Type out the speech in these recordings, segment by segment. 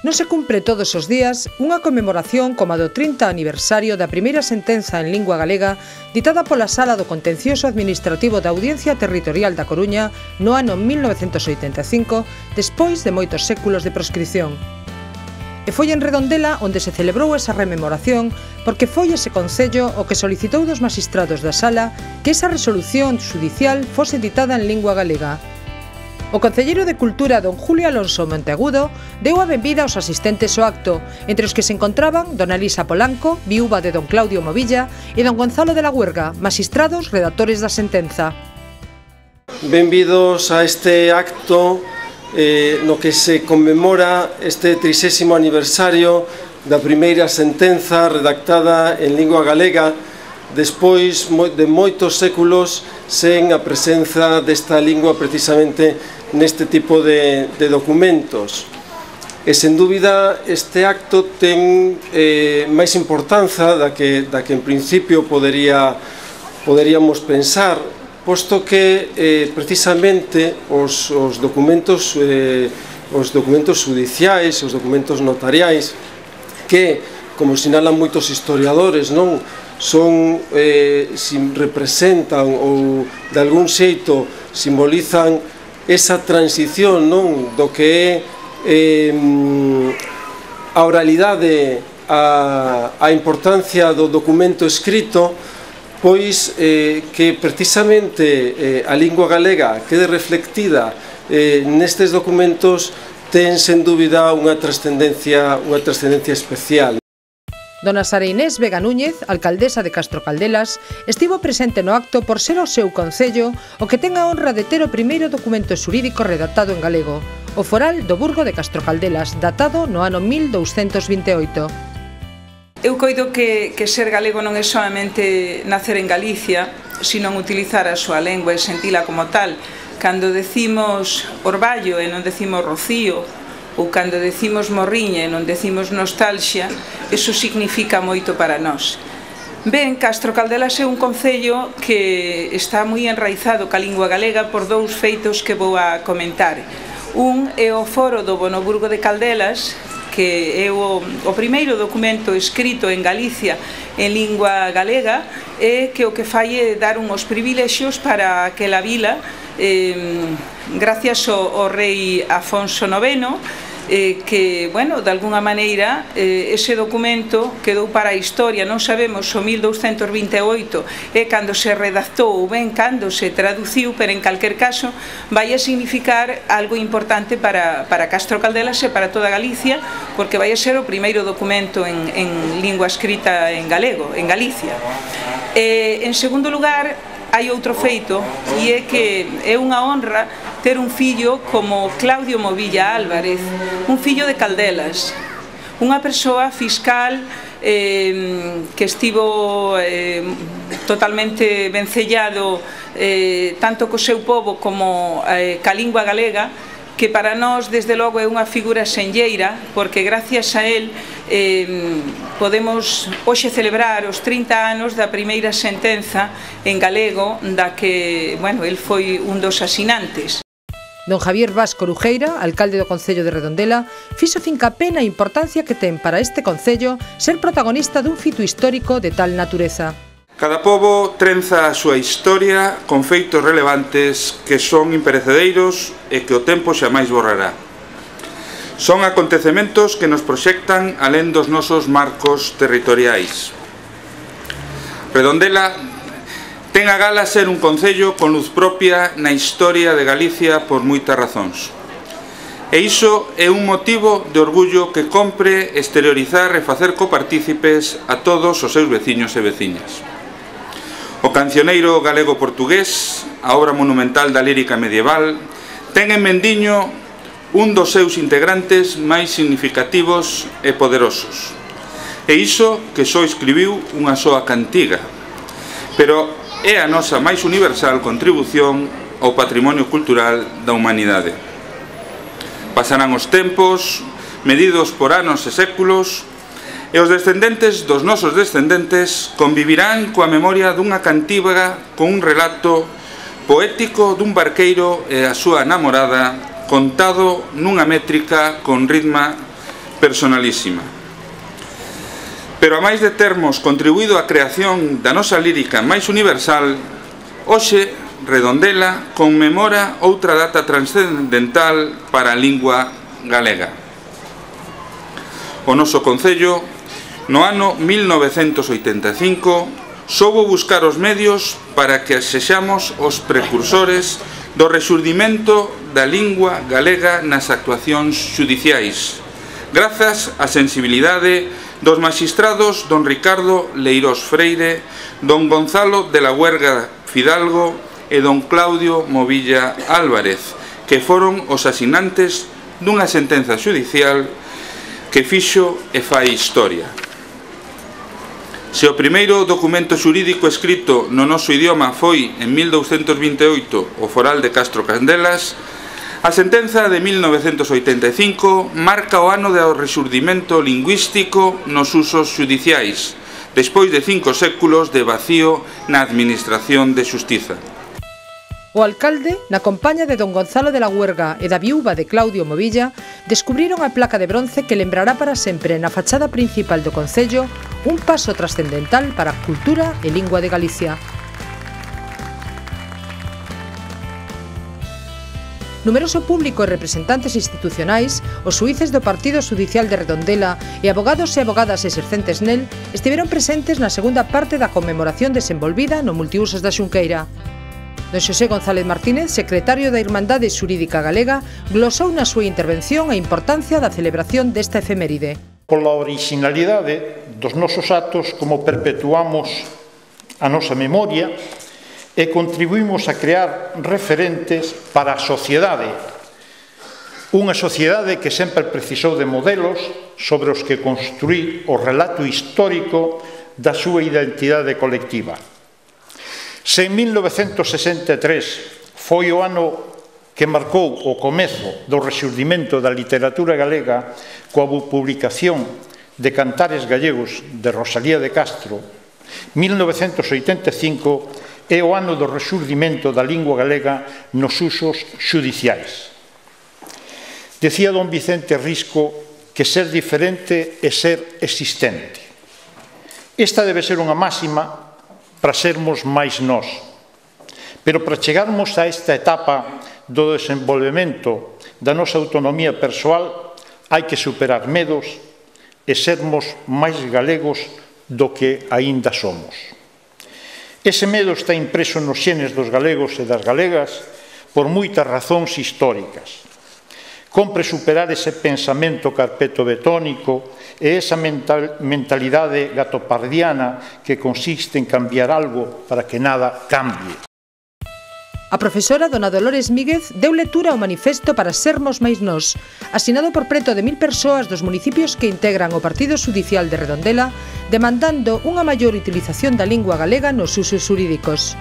Non se cumpre todos os días unha conmemoración como a do 30 aniversario da primeira sentenza en lingua galega ditada pola Sala do Contencioso Administrativo da Audiencia Territorial da Coruña no ano 1985, despois de moitos séculos de proscripción. E foi en Redondela onde se celebrou esa rememoración porque foi ese concello o que solicitou dos magistrados da Sala que esa resolución judicial fose ditada en lingua galega. O concelleiro de Cultura, don Julio Alonso Monteagudo, deu a benvida aos asistentes ao acto, entre os que se encontraban dona Elisa Polanco, viúva de don Claudio Movilla, e don Gonzalo de la Huerga, magistrados redactores da sentenza. Benvidos a este acto no que se conmemora este 30º aniversario da primeira sentenza redactada en lingua galega despois de moitos séculos sen a presenza desta lingua precisamente neste tipo de documentos. E sen dúbida este acto ten máis importanza da que en principio poderíamos pensar, posto que precisamente os documentos judiciais, os documentos notariais, que, como sinalan moitos historiadores, non representan ou de algún xeito simbolizan esa transición do que é a oralidade, a importancia do documento escrito, pois que precisamente a lingua galega quede reflectida nestes documentos ten sen dúbida unha trascendencia especial. Dona Sara Inés Vega Núñez, alcaldesa de Castro Caldelas, estivo presente no acto por ser o seu concello o que ten a honra de ter o primeiro documento xurídico redactado en galego, o Foral do Burgo de Castro Caldelas, datado no ano 1228. Eu coido que ser galego non é solamente nacer en Galicia, sino utilizar a súa lengua e sentila como tal. Cando decimos orballo e non decimos rocío, ou cando decimos morriña e non decimos nostalgia, eso significa moito para nós. Ben, Castro Caldelas é un concello que está moi enraizado ca lingua galega por dous feitos que vou a comentar. Un é o foro do Bonoburgo de Caldelas, que é o primeiro documento escrito en Galicia en lingua galega e que o que fai é dar uns privilexios para aquela vila gracias ao rei Afonso IX, que, bueno, de alguna maneira ese documento quedou para a historia. Non sabemos o 1228 é cando se redactou ou ben cando se traduciu, pero en calquer caso vai a significar algo importante para Castro Caldelas e para toda Galicia, porque vai a ser o primeiro documento en lingua escrita en galego, en Galicia. En segundo lugar, hai outro feito, e é que é unha honra ter un fillo como Claudio Movilla Álvarez, un fillo de Caldelas, unha persoa fiscal que estivo totalmente vencellado tanto co seu pobo como ca lingua galega, que para nós, desde logo, é unha figura senlleira, porque gracias a él podemos hoxe celebrar os 30 anos da primeira sentenza en galego da que, bueno, él foi un dos asinantes. Don Javier Vaz Corujeira, alcalde do Concello de Redondela, fixo fincapé na importancia que ten para este concello ser protagonista dun fito histórico de tal natureza. Cada pobo trenza a súa historia con feitos relevantes que son imperecedeiros e que o tempo xamais borrará. Son acontecementos que nos proxectan alén dos nosos marcos territoriais. Redondela ten a gala ser un concello con luz propia na historia de Galicia por moitas razóns. E iso é un motivo de orgullo que compre exteriorizar e facer copartícipes a todos os seus veciños e veciñas. O cancioneiro galego-portugués, a obra monumental da lírica medieval, ten en Mendiño un dos seus integrantes máis significativos e poderosos. E iso que só escribiu unha soa cantiga, pero é a nosa máis universal contribución ao patrimonio cultural da humanidade. Pasarán os tempos, medidos por anos e séculos, e os descendentes dos nosos descendentes convivirán coa memoria dunha cantiga con un relato poético dun barqueiro e a súa namorada contado nunha métrica con ritmo personalísima. Pero a máis de termos contribuído á creación da nosa lírica máis universal, hoxe Redondela conmemora outra data transcendental para a lingua galega. O noso concello, no ano 1985, soubo buscar os medios para que sexamos os precursores do rexurdimento da lingua galega nas actuacións xudiciais, grazas á sensibilidade dos maxistrados don Ricardo Leirós Freire, don Gonzalo de la Huerga Fidalgo e don Claudio Movilla Álvarez, que foron os asinantes dunha sentenza xudicial que fixo e fai historia. Se o primeiro documento xurídico escrito no noso idioma foi, en 1228, o Foral de Castro Candelas, a sentenza de 1985 marca o ano do rexurdimento lingüístico nos usos xudiciais, despois de 5 séculos de vacío na administración de xustiza. O alcalde, na compaña de don Gonzalo de la Huerga e da viúva de Claudio Movilla, descubriron a placa de bronce que lembrará para sempre na fachada principal do concello un paso trascendental para a cultura e lingua de Galicia. Numeroso público e representantes institucionais, os xuíces do Partido Xudicial de Redondela e abogados e abogadas exercentes nel estiveron presentes na segunda parte da conmemoración desenvolvida no Multiusos da Xunqueira. Don Xosé González Martínez, secretario da Irmandade Xurídica Galega, glosou na súa intervención a importancia da celebración desta efeméride. Pola originalidade dos nosos actos, como perpetuamos a nosa memoria e contribuímos a crear referentes para a sociedade. Unha sociedade que sempre precisou de modelos sobre os que construir o relato histórico da súa identidade colectiva. Se en 1963 foi o ano que marcou o comezo do rexurdimento da literatura galega coa publicación de Cantares Gallegos de Rosalía de Castro, 1985 é o ano do rexurdimento da lingua galega nos usos xudiciais. Decía don Vicente Risco que ser diferente é ser existente. Esta debe ser unha máxima para sermos máis nós. Pero para chegarmos a esta etapa do desenvolvemento da nosa autonomía persoal hai que superar medos e sermos máis galegos do que aínda somos. Ese medo está impreso nos xenes dos galegos e das galegas por moitas razóns históricas. Compre superar ese pensamento carpetobetónico e esa mentalidade gatopardiana que consiste en cambiar algo para que nada cambie. A profesora dona Dolores Míguez deu lectura ao manifesto para sermos máis nós, asinado por preto de 1000 persoas dos municipios que integran o Partido Xudicial de Redondela, demandando unha maior utilización da lingua galega nos usos xurídicos.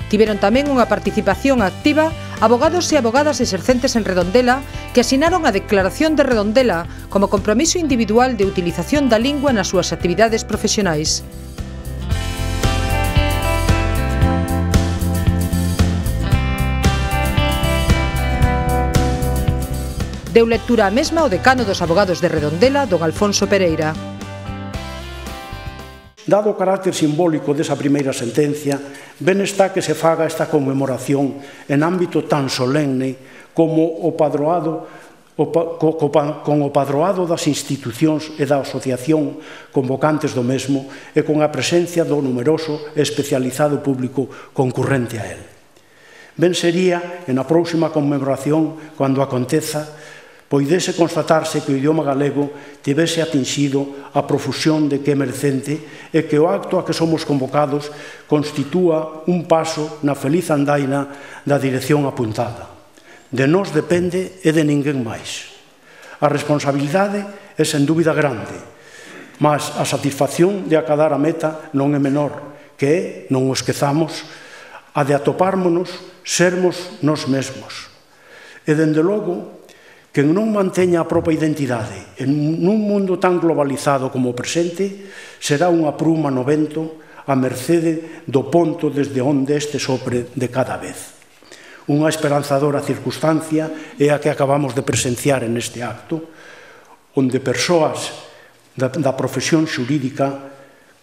Tiveron tamén unha participación activa abogados e abogadas exercentes en Redondela que asinaron a Declaración de Redondela como compromiso individual de utilización da lingua nas súas actividades profesionais. Deu lectura a mesma o decano dos abogados de Redondela, don Alfonso Pereira. Dado o carácter simbólico desa primeira sentencia, ben está que se faga esta conmemoración en ámbito tan solemne como o padroado, con o padroado das institucións e da asociación convocantes do mesmo e con a presencia do numeroso e especializado público concurrente a el. Ben sería, en a próxima conmemoración, cando aconteza, poidese constatarse que o idioma galego tivese atinxido a profusión de que é merecente e que o acto a que somos convocados constitúa un paso na feliz andaina da dirección apuntada. De nós depende e de ninguén máis. A responsabilidade é sen dúbida grande, mas a satisfacción de acadar a meta non é menor, que é, non o esquezamos, a de atopármonos, sermos nós mesmos. E, dende logo, quen non manteña a propia identidade en un mundo tan globalizado como o presente será unha pruma no vento a mercede do ponto desde onde este sopre de cada vez. Unha esperanzadora circunstancia é a que acabamos de presenciar en este acto, onde persoas da profesión xurídica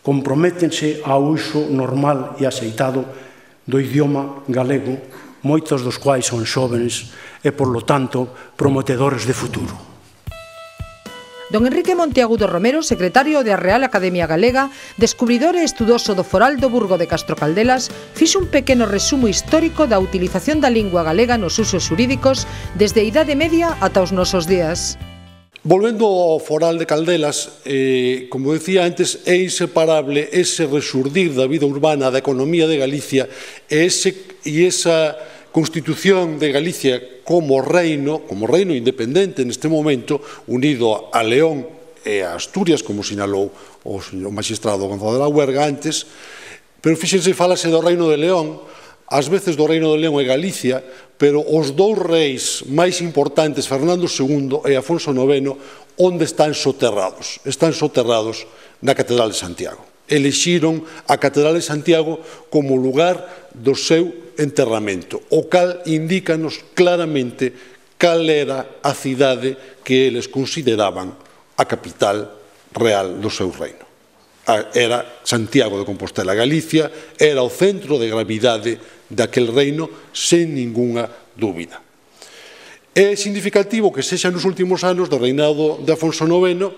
comprométense ao uso normal e aceitado do idioma galego, moitos dos quais son xóvenes e, por lo tanto, prometedores de futuro. Don Enrique Monteagudo Romero, secretario da Real Academia Galega, descubridor e estudoso do foral do Burgo de Castro Caldelas, fixo un pequeno resumo histórico da utilización da lingua galega nos usos xurídicos desde a Idade Media ata os nosos días. Volvendo ao foral de Caldelas, como decía antes, é inseparable ese resurdir da vida urbana, da economía de Galicia e esa constitución de Galicia como reino independente neste momento, unido a León e a Asturias, como sinalou o magistrado Gonzalo de la Huerga antes, pero fíxense, falase do reino de León, ás veces do reino de León e Galicia, pero os dous reis máis importantes, Fernando II e Afonso IX, onde están soterrados? Están soterrados na Catedral de Santiago. Elixiron a Catedral de Santiago como lugar do seu enterramento, o cal indícanos claramente cal era a cidade que eles consideraban a capital real do seu reino. Era Santiago de Compostela. Galicia era o centro de gravidade daquel reino, sen ningunha dúbida. É significativo que sexa nos últimos anos do reinado de Afonso IX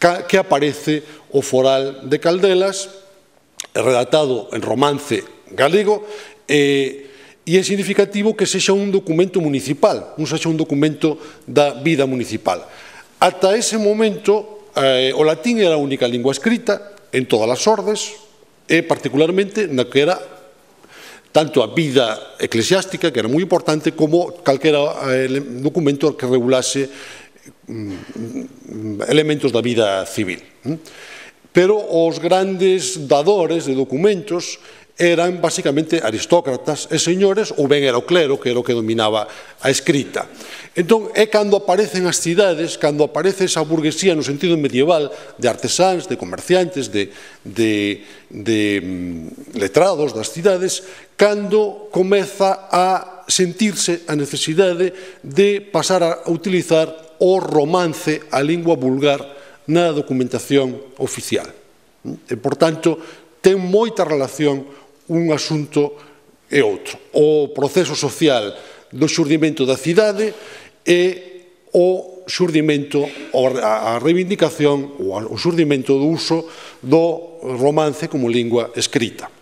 que aparece o foral de Caldelas, redactado en romance galego, e é significativo que sexa un documento municipal, non sexa un documento da vida municipal. Ata ese momento, o latín era a única lingua escrita en todas as ordes, e particularmente na que era tanto a vida eclesiástica, que era moi importante, como calquera documento que regulase elementos da vida civil. Pero os grandes dadores de documentos eran basicamente aristócratas e señores, ou ben era o clero, que era o que dominaba a escrita. Entón, é cando aparecen as cidades, cando aparece esa burguesía no sentido medieval, de artesáns, de comerciantes, de letrados das cidades, cando comeza a sentirse a necesidade de pasar a utilizar o romance, a lingua vulgar, na documentación oficial. E, por tanto, ten moita relación un asunto e outro. O proceso social do xurdimento da cidade e o xurdimento, a reivindicación, o xurdimento do uso do romance como lingua escrita.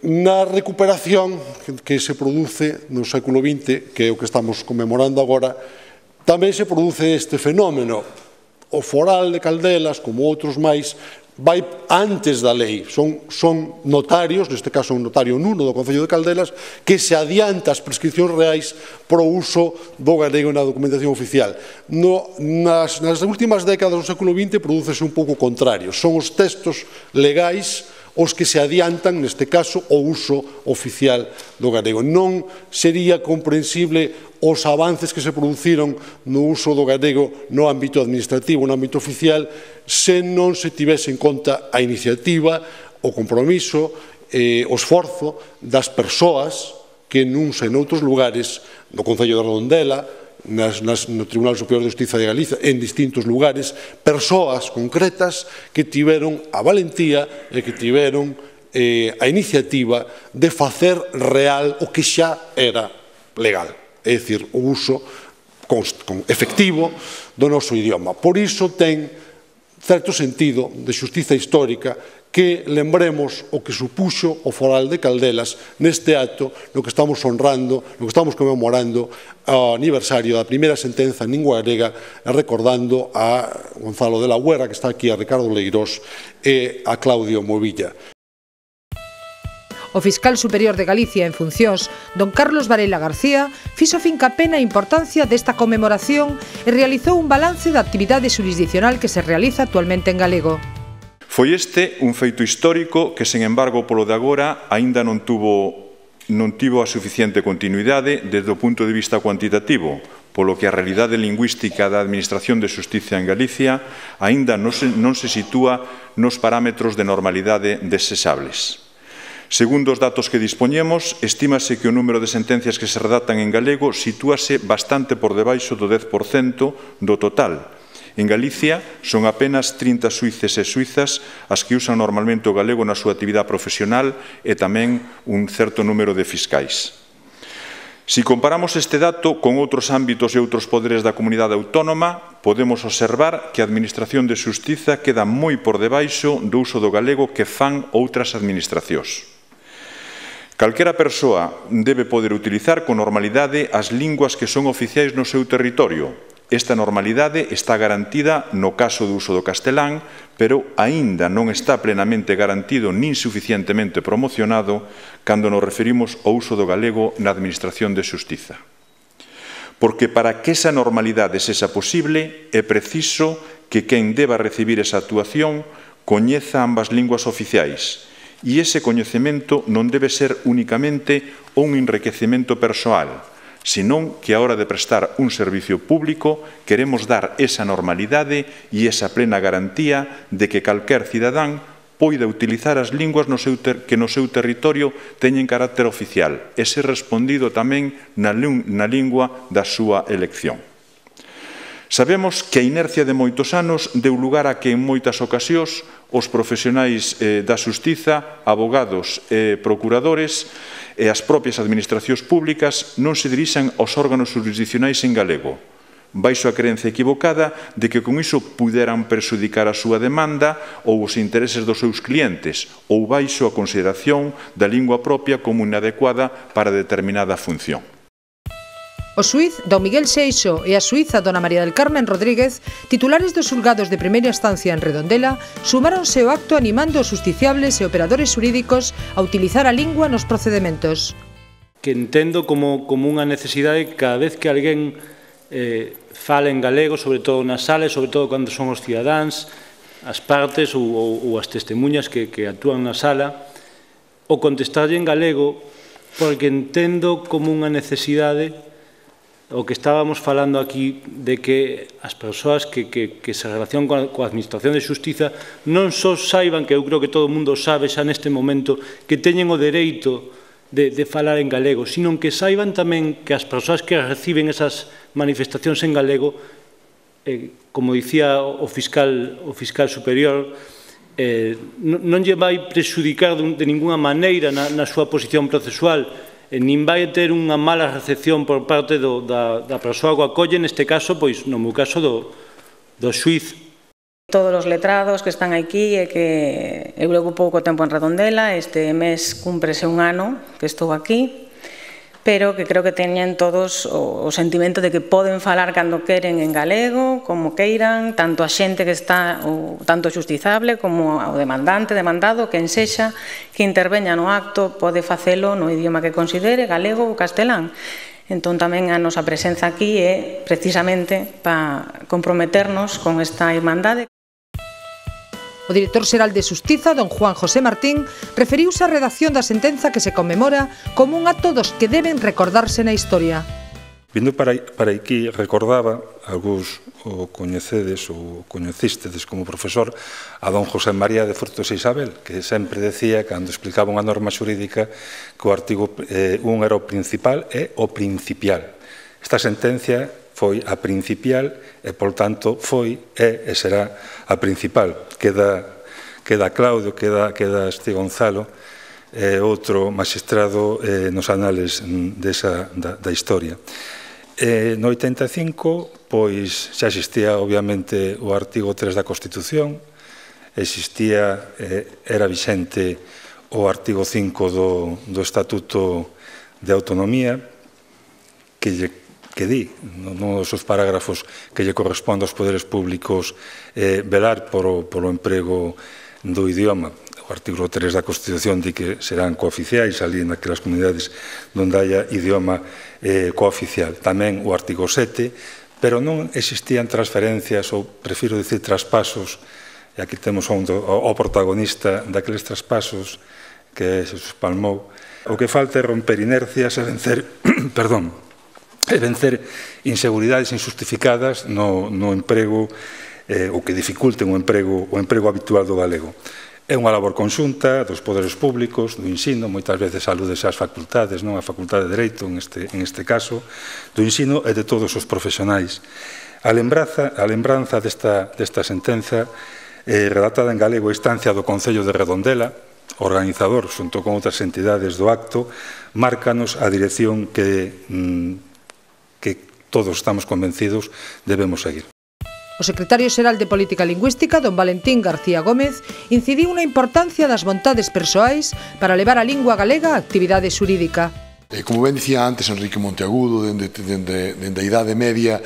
Na recuperación que se produce no século XX, que é o que estamos conmemorando agora, tamén se produce este fenómeno. O foral de Caldelas, como outros máis, vai antes da lei, son notarios, neste caso un notario nuno do Concello de Caldelas, que se adianta as prescripcións reais para o uso do galego na documentación oficial. Nas últimas décadas do século XX prodúcese un pouco contrario, son os textos legais os que se adiantan, neste caso, o uso oficial do galego. Non sería comprensible os avances que se produciron no uso do galego no ámbito administrativo, no ámbito oficial, se non se tivese en conta a iniciativa, o compromiso, o esforzo das persoas que nuns e noutros lugares, no Concello de Redondela, no Tribunal Superior de Justiza de Galicia, en distintos lugares, persoas concretas que tiveron a valentía e que tiveron a iniciativa de facer real o que xa era legal, é dicir, o uso efectivo do noso idioma. Por iso ten certo sentido de xustiza histórica que lembremos o que supuxo o foral de Caldelas neste acto no que estamos honrando, no que estamos conmemorando o aniversario da primeira sentenza en lingua galega, recordando a Gonzalo de la Huerga, que está aquí, a Ricardo Leirós e a Claudio Movilla. O fiscal superior de Galicia en funcións, don Carlos Varela García, fixo fincapé na importancia desta conmemoración e realizou un balance da actividade xurisdiccional que se realiza actualmente en galego. Foi este un feito histórico que, sen embargo, polo de agora, aínda non tivo a suficiente continuidade desde o punto de vista cuantitativo, polo que a realidade lingüística da Administración de Xustiza en Galicia aínda non se sitúa nos parámetros de normalidade desesables. Segundo os datos que dispoñemos, estímase que o número de sentencias que se redactan en galego sitúase bastante por debaixo do 10% do total. En Galicia son apenas 30 suíces e suizas as que usan normalmente o galego na súa actividade profesional e tamén un certo número de fiscais. Si comparamos este dato con outros ámbitos e outros poderes da comunidade autónoma, podemos observar que a Administración de Xustiza queda moi por debaixo do uso do galego que fan outras administracións. Calquera persoa debe poder utilizar con normalidade as linguas que son oficiais no seu territorio. Esta normalidade está garantida no caso do uso do castelán, pero aínda non está plenamente garantido nin suficientemente promocionado cando nos referimos ao uso do galego na Administración de Xustiza. Porque para que esa normalidade sexa posible, é preciso que quen deba recibir esa actuación coñeza ambas linguas oficiais, e ese coñecemento non debe ser únicamente un enriquecemento persoal, senón que a hora de prestar un servicio público queremos dar esa normalidade e esa plena garantía de que calquer cidadán poida utilizar as linguas que no seu territorio teñen carácter oficial e ser respondido tamén na lingua da súa elección. Sabemos que a inercia de moitos anos deu lugar a que en moitas ocasións os profesionais da xustiza, abogados e procuradores e as propias administracións públicas non se dirixan aos órganos jurisdiccionais en galego, baixo a creencia equivocada de que con iso puderan perxudicar a súa demanda ou os intereses dos seus clientes, ou baixo a consideración da lingua propia como inadecuada para determinada función. O xuíz don Miguel Seixo e a xuíza dona María del Carmen Rodríguez, titulares dos xulgados de primeira instancia en Redondela, sumáronse ao acto animando os justiciables e operadores xurídicos a utilizar a lingua nos procedementos. Que entendo como unha necesidade cada vez que alguén fala en galego, sobre todo nas salas, sobre todo cando son os cidadáns, as partes ou as testemunhas que actúan na sala, o contestarlle en galego, porque entendo como unha necesidade o que estábamos falando aquí de que as persoas que se relacionan coa Administración de Xustiza non só saiban, que eu creo que todo o mundo sabe xa neste momento, que teñen o dereito de falar en galego, sino que saiban tamén que as persoas que reciben esas manifestacións en galego, como dicía o fiscal superior, non lle vai prexudicar de ninguna maneira na súa posición procesual, nin vai ter unha mala recepción por parte da persoa que o acolle, neste caso, pois, no meu caso, do xuíz. Todos os letrados que están aquí e que eu levo pouco tempo en Redondela, este mes cúmprese un ano que estou aquí, pero que creo que teñen todos o sentimento de que poden falar cando queren en galego, como queiran, tanto a xente que está, tanto o xustizable como o demandante, demandado, quen sexa, que interveña no acto, pode facelo no idioma que considere, galego ou castelán. Entón, tamén a nosa presenza aquí é precisamente para comprometernos con esta irmandade. O director xeral de Xustiza, don Juan José Martín, referiuse á redacción da sentenza que se conmemora como un acto dos que deben recordarse na historia. Vindo para aquí, recordaba, algúns o coñecedes ou coñecistedes como profesor, a don José María de Frutos e Isabel, que sempre decía, cando explicaba unha norma xurídica, que o artigo 1 era o principal e o principial. Esta sentencia foi a principial e, por tanto, foi, é e será a principal. Queda Claudio, queda este Gonzalo, outro magistrado nos anales da historia. No 85, pois, xa existía, obviamente, o artigo 3 da Constitución, era vixente o artigo 5 do Estatuto de Autonomía, que di, nun dos seus parágrafos, que lle corresponde aos poderes públicos velar polo emprego do idioma. O artigo 3 da Constitución di que serán cooficiais ali naquelas comunidades onde haya idioma cooficial. Tamén o artigo 7, pero non existían transferencias, ou prefiro dicir traspasos, e aquí temos o protagonista daqueles traspasos que se espalmou. O que falta é romper inercias e vencer, e vencer inseguridades injustificadas no emprego ou que dificulten o emprego habitual do galego. É unha labor conxunta dos poderes públicos, do ensino, moitas veces alúdese ás facultades, non a Facultade de Dereito, en este caso, do ensino e de todos os profesionais. A lembranza desta sentenza redactada en galego a instancia do Concello de Redondela, organizador, xunto con outras entidades do acto, márcanos a dirección que todos estamos convencidos debemos seguir. O secretario xeral de Política Lingüística, don Valentín García Gómez, incidiu na importancia das vontades persoais para levar a lingua galega á actividade xurídica. Como ben dicía antes Enrique Monteagudo, dende a Idade Media,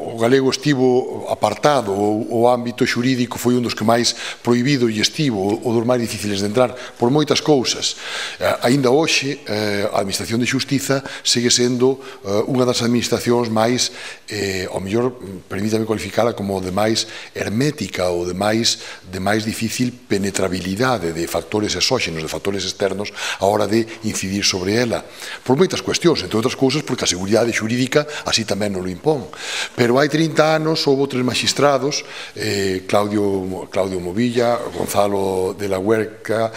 o galego estivo apartado, o ámbito xurídico foi un dos que máis prohibido e estivo, o dos máis difíciles de entrar, por moitas cousas. Aínda hoxe, a Administración de Xustiza segue sendo unha das administracións máis, ao mellor, permítame cualificala como de máis hermética ou de máis difícil penetrabilidade de factores exóxenos, de factores externos, a hora de incidir sobre ela, por moitas cuestións, entre outras cousas porque a seguridade xurídica así tamén non lo impón. Pero hai 30 anos houve 3 magistrados, Claudio Movilla, Gonzalo de la Huerca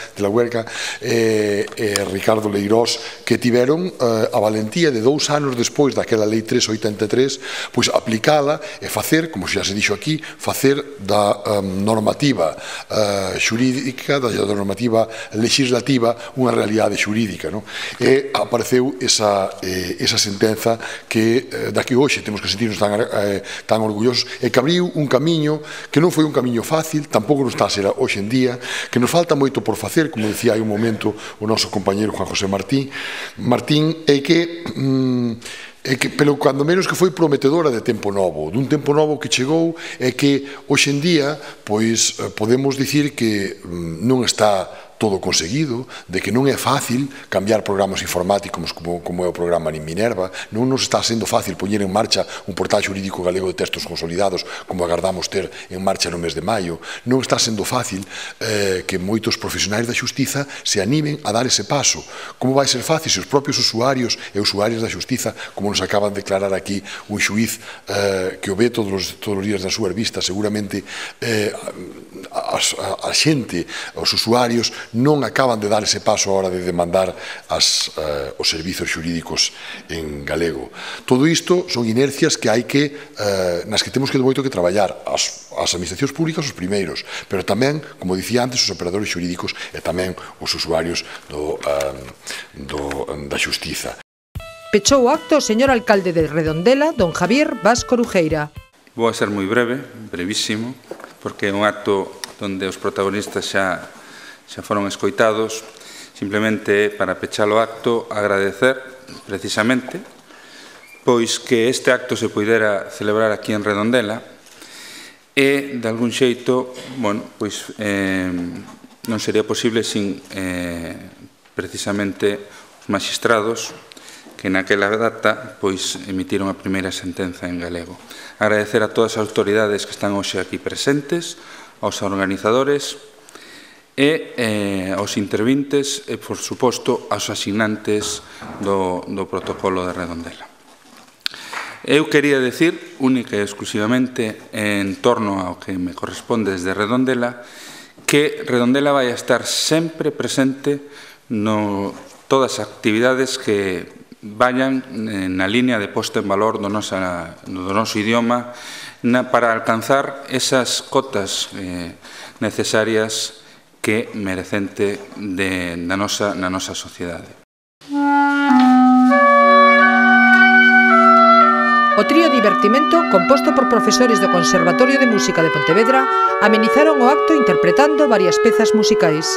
e Ricardo Leirós, que tiveron a valentía de 2 anos despois daquela Lei 383, pois aplicala e facer, como xa se dixo aquí, facer da normativa xurídica, da normativa legislativa, unha realidade xurídica. E apareceu esa sentenza da que hoxe temos que sentirnos tan orgullosos e que abriu un camiño que non foi un camiño fácil, tampouco non está a ser hoxe en día, que nos falta moito por facer, como decía hai un momento o noso compañeiro Juan José Martín, pero cando menos que foi prometedora de tempo novo, dun tempo novo que chegou e que hoxe en día podemos dicir que non está todo conseguido, de que non é fácil cambiar programas informáticos como é o programa Nin Minerva, non nos está sendo fácil poñer en marcha un portal xurídico galego de textos consolidados como agardamos ter en marcha no mes de maio, non está sendo fácil que moitos profesionais da xustiza se animen a dar ese paso. Como vai ser fácil se os propios usuarios e usuarias da xustiza, como nos acaban de declarar aquí un xuiz que o ve todos os días nas súas vistas, seguramente a xente, os usuarios non acaban de dar ese paso a hora de demandar os servizos xurídicos en galego. Todo isto son inercias que nas que temos moito que traballar, as administracións públicas os primeiros, pero tamén, como dicía antes, os operadores xurídicos e tamén os usuarios da xustiza. Pechou o acto o señor alcalde de Redondela, don Javier Vasco Orujeira. Vou a ser moi breve, brevísimo, porque é un acto onde os protagonistas xa foron escoitados. Simplemente para pechar o acto agradecer precisamente pois que este acto se poidera celebrar aquí en Redondela e de algún xeito pois non sería posible sin precisamente os magistrados que naquela data pois emitiron a primeira sentenza en galego. Agradecer a todas as autoridades que están hoxe aquí presentes, aos organizadores e aos intervintes e, por suposto, aos asignantes do protocolo de Redondela. Eu quería decir, única e exclusivamente, en torno ao que me corresponde desde Redondela, que Redondela vai a estar sempre presente no todas as actividades que vayan na línea de posta en valor do noso idioma para alcanzar esas cotas necesarias que merecente na nosa sociedade. O trío Divertimento, composto por profesores do Conservatorio de Música de Pontevedra, amenizaron o acto interpretando varias pezas musicais.